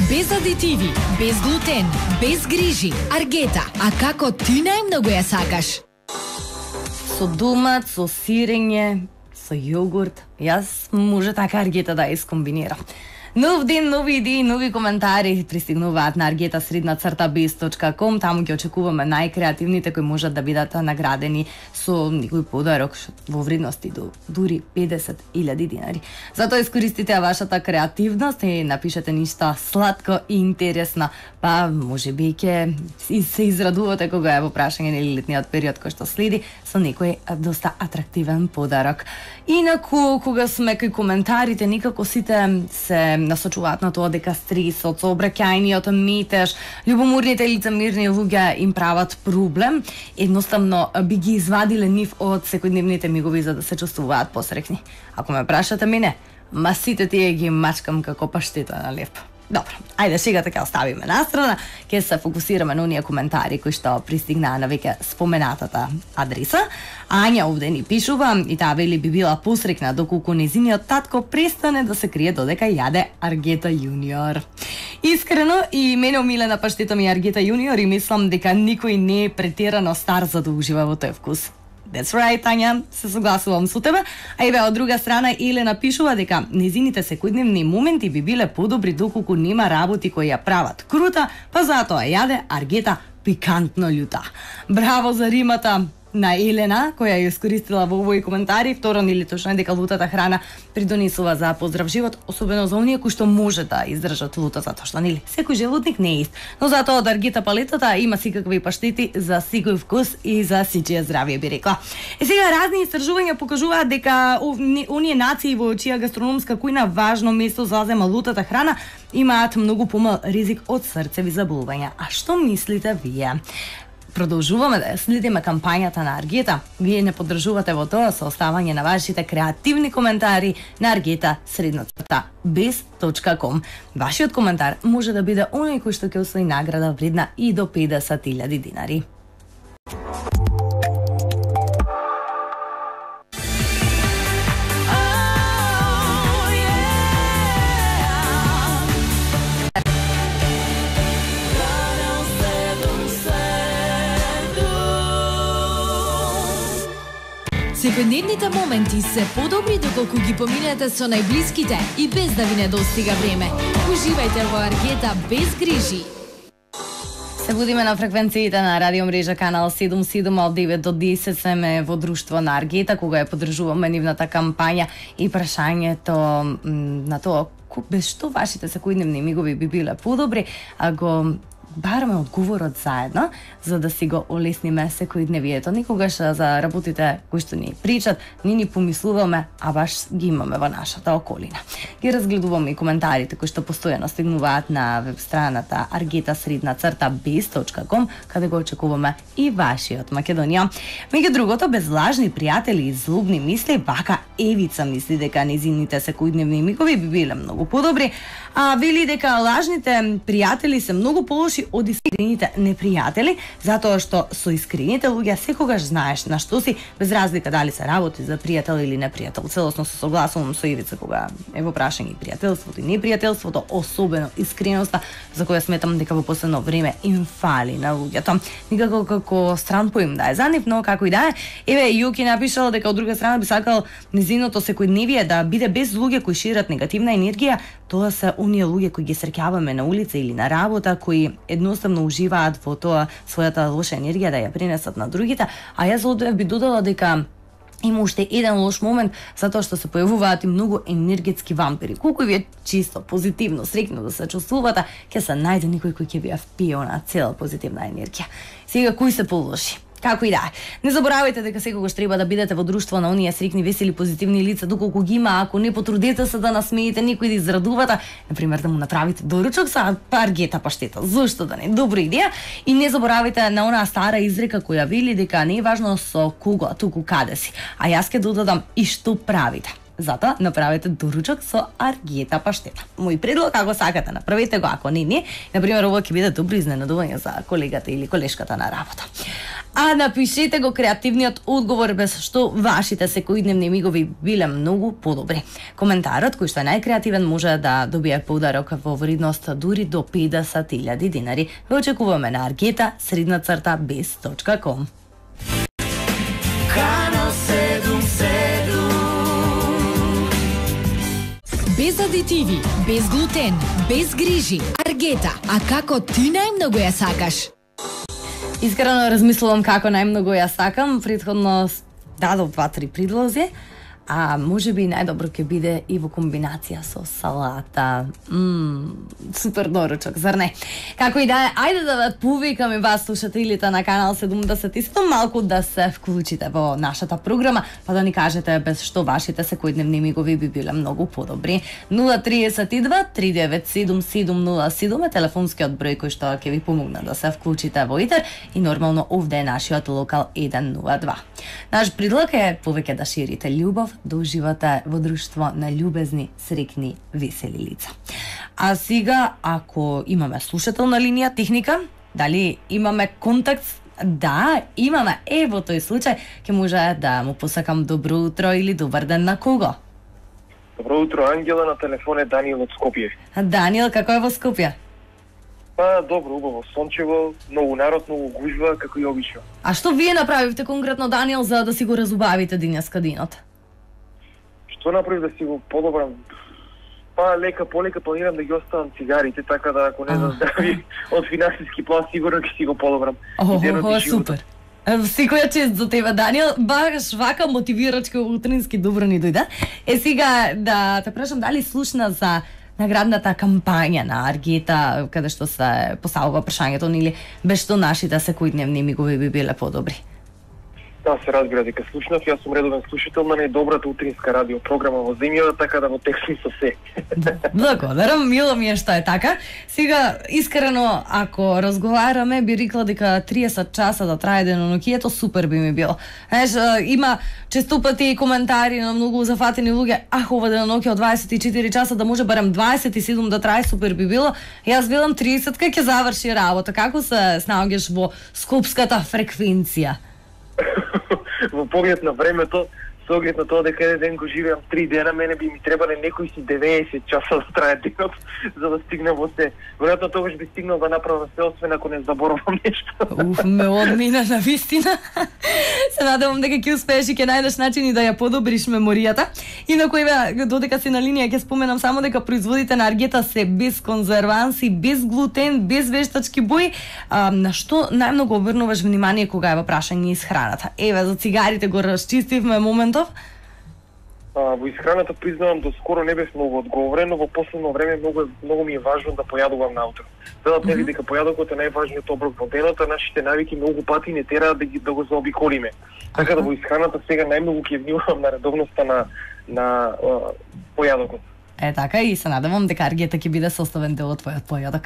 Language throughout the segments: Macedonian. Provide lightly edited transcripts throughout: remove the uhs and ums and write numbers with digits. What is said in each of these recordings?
Без адитиви, без глутен, без грижи. Аргета, а како ти најмногу ја сакаш? Со домат, со сирење, со јогурт. Јас може така аргета да искомбинирам. Нов ден, нови идеи, нови коментари пристигнуваат на argeta_bez.com. Таму ќе очекуваме најкреативните кои можат да бидат наградени со некој подарок во вредности до дури 50.000 динари. Затоа искористите вашата креативност и напишете ништо сладко и интересно. Па можеби ќе се израдувате кога е во прашање на летниот период кој што следи со некој доста атрактивен подарок. Инаку кога сме кај коментарите, никако сите се насочуваат на тоа дека стресот, сообраќајниот метеж, љубоморните лицемерни луѓе им прават проблем. Едноставно би ги извадиле нив од секојдневните мигови за да се чувствуваат посрекни. Ако ме прашате мене, ма сите тие ги мачкам како паштета на леп. Добро, ајде шегата ќе оставиме настрана, ќе се фокусираме на оние коментари кои што пристигнаа на веќе споменатата адреса. Ања овде ни пишува и таа вели би била посрекна доколку незиниот татко престане да се крие додека јаде Аргета Јуниор. Искрено и мене омилена паштета ми Аргета Јуниор и мислам дека никој не е претерано стар за да ужива во тој вкус. That's right, Тања, се согласувам со тебе. А еве од друга страна Елена пишува дека незините секојдневни моменти би биле подобри доколку нема работи кои ја прават крута, па затоа јаде Аргета пикантно љута. Браво за римата на Елена, која ја искористила во овој коментари. Второ, нели точно е дека лутата храна придонесува за поздрав живот, особено за оние кои што може да издржат лута, затоа што нели секој желудник не е ист. Но затоа од Аргета палетата има секакви паштети за секој вкус и за сичие здравје, би рекла. Сега разни истражувања покажуваат дека оние нации во чија гастрономска кујна важно место зазема лутата храна имаат многу помал ризик од срцеви заболувања. А што мислите вие? Продолжуваме да следиме кампањата на Аргета. Вие не поддржувате во тоа со оставање на вашите креативни коментари на argeta_bez.com. Вашиот коментар може да биде оној кој што ќе освои награда вредна и до 50.000 динари. Секојдневните моменти се подобри доколку ги поминете со најблиските и без да ви недостига време. Уживајте во Аргета без грижи. Се будиме на фреквенциите на радио мрежа канал 77 од 9 до 10 сме во друштво на Аргета кога ја поддржуваме нивната кампања и прашањето на тоа без што вашите секојдневни мигови би биле подобри, а го бараме одговорот заедно, за да си го олесниме секојдневието. Никогаш за работите кои што ни причат, ни помислуваме, а баш ги имаме во нашата околина. Ги разгледуваме и коментарите кои што постојано стигнуваат на веб страната argeta_bez.com, каде го очекуваме и вашиот Македонија. Меѓу другото, без лажни пријатели и злобни мисли, вака Евица мисли дека незините секојдневни мигови би биле многу подобри, а вели дека лажните пријатели се многу полоши од искрените непријатели, затоа што со искрените луѓе секогаш знаеш на што си, без разлика дали се работи за пријател или непријател. Целосно се согласувам со Ивица кога е во прашање пријателството и непријателството, особено искреноста, за која сметам дека во последно време им фали на луѓето. Никако како стран поим да е за нив, но како и да е. Еве Јуки напишал дека од друга страна би сакал незиното секојдневие да биде без луѓе кои шират негативна енергија. Тоа се оние луѓе кои ги среќаваме на улица или на работа, кои едноставно уживаат во тоа својата лоша енергија да ја пренесат на другите, а јас овде би додала дека има уште еден лош момент, затоа што се појавуваат и многу енергетски вампири. Колку ви е чисто, позитивно, среќно да се чувствувате, ќе се најде некој кој ќе ви ја впие на цела позитивна енергија. Сега, кои се полоши? Како и да е. Не заборавајте дека секогаш треба да бидете во друштво на оние среќни, весели, позитивни лица, доколку ги има. Ако не потрудете се да насмеете некој да израдувате, например да му направите доручок со Аргета паштета. Зошто да не? Добра идеја. И не заборавајте на онаа стара изрека која вели дека не е важно со кого, туку каде си. А јас ќе додадам и што правите. Затоа направете доручок со аргета паштета. Мој предлог, ако сакате, направете го, ако не, например, ова ќе биде добро изненадување за колегата или колешката на работа. А напишете го креативниот одговор без што вашите секојдневни мигови биле многу подобри. Коментарот кој што е најкреативен може да добие подарок во вредност дури до 50.000 динари. Ве очекуваме на argeta_bez.com. Без адитиви, без глутен, без грижи. Аргета, а како ти најмногу ја сакаш? Искрено размислувам како најмногу ја сакам. Претходно дадов 2-3 предлози, а можеби најдобро ќе биде и во комбинација со салата. Супер доручок, зар не? Како и да е, ајде да ве повикам и вас слушателите на канал 77 малку да се вклучите во нашата програма, па да ни кажете без што вашите секојдневни мигови би биле многу подобри. 032 397 707 е телефонскиот број кој што ќе ви помогне да се вклучите во итер и нормално овде е нашиот локал 102. Наш предлог е повеќе да ширите љубов, да уживате во друштво на љубезни, среќни, весели лица. А сега, ако имаме слушател на линија техника, дали имаме контакт? Да, имаме. Во тој случај ќе може да му посакам добро утро или добар ден на кого? Добро утро, Ангела, на телефон е Даниел од Скопје. Даниел, како е во Скопје? Па, добро, убаво, сончево, многу народ, многу гужва, како и обично. А што вие направивте конкретно, Даниел, за да си го разубавите денеска денот? Што направив да си го подобрам? Па, лека полека планирам да ги оставам цигарите, така да ако не заздрави од финансиски план, сигурно ќе си го подобрам. Супер. Секоја чест за тебе, Даниел. Баш вака мотивирачки утрински добро ни дојде. Сега да те прашам дали слушна за наградната кампања на Аргета, каде што се поставува прашањето или без што нашите секојдневни мигови би биле подобри? Да, се разбира дека слушнав, јас сум редовен слушател на најдобрата утринска радиопрограма во земјата, така да во текст сум со се. Благодарам, мило ми е што е така. Сега, искрено, ако разговараме, би рекла дека 30 часа да трае денонокието, супер би ми било. Знаеш, има често пати и коментари на многу зафатени луѓе, ова денонокие од 24 часа да може барем 27 да трае, супер би било. Јас велам 30-ка ќе заврши работа. Како се снаоѓаш во скопската фреквенција? Во поглед на времето, со оглед на тоа дека еден ден го живеам 3 дена, мене би ми требале некои си 90 часа да трае денот за да стигнам во се. Веројатно тогаш би стигнал да направам се, освен ако не заборавам нешто. Ме одмина на вистина. Се надевам дека ќе успееш и ќе најдеш начини да ја подобриш меморијата. Инаку еве, додека си на линија, ќе споменам само дека производите на Аргета се без конзерванси, без глутен, без вештачки бои. На што најмногу обрнуваш внимание кога е во прашање исхраната? Еве, за цигарите го расчистивме моментов. Во исхраната признавам до скоро не бев многу одговорен, но во последно време многу ми е важно да појадувам наутро. Велат нели дека појадокот е најважниот оброк во денот, а нашите навики многу пати не тера да го заобиколиме. Така да во исхраната сега најмногу ќе внимавам на редовноста на појадокот. Така и се надевам дека Аргета ќе биде составен дел од твојот појадок.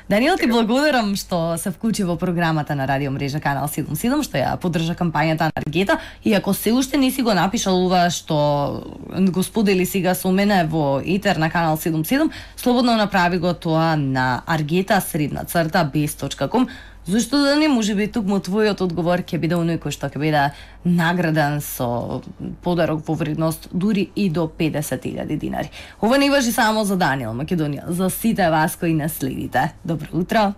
Даниел, ти благодарам што се вклучи во програмата на Радио Мрежа Канал 77, што ја поддржа кампањата на Аргета. И ако се уште не си го напишал ова што го сподели сега со мене во етер на Канал 77, слободно направи го тоа на argeta_bez.com. Зошто да не, можеби тукму твојот одговор ќе биде оној кој што ќе биде награден со подарок во вредност дури и до 50.000 динари. Ова не важи само за Даниел Македонија, за сите вас кои не следите. Добро утро!